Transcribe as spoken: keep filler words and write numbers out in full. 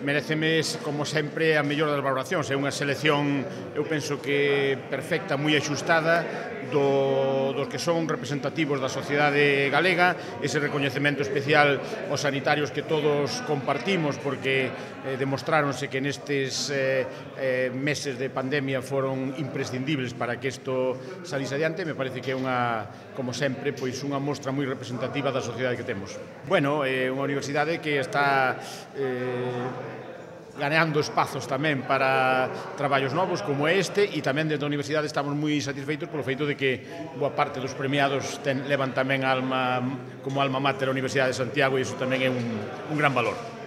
mereceme, como sempre, a mellor das valoracións. É unha selección, eu penso que perfecta, moi axustada, do, dos que son representativos da sociedade galega, ese recoñecemento especial aos sanitarios que todos compartimos, porque eh, demostráronse que nestes eh, eh, meses de pandemia foron imprescindibles para que isto salise adiante. Me parece que é unha, como sempre, pois unha mostra moi representativa da sociedade que temos. Bueno, é unha universidade que está eh, ganeando espazos tamén para traballos novos como este, e tamén dentro da universidade estamos moi satisfeitos polo feito de que boa parte dos premiados ten, levan tamén alma, como alma mater a Universidade de Santiago, e iso tamén é un, un gran valor.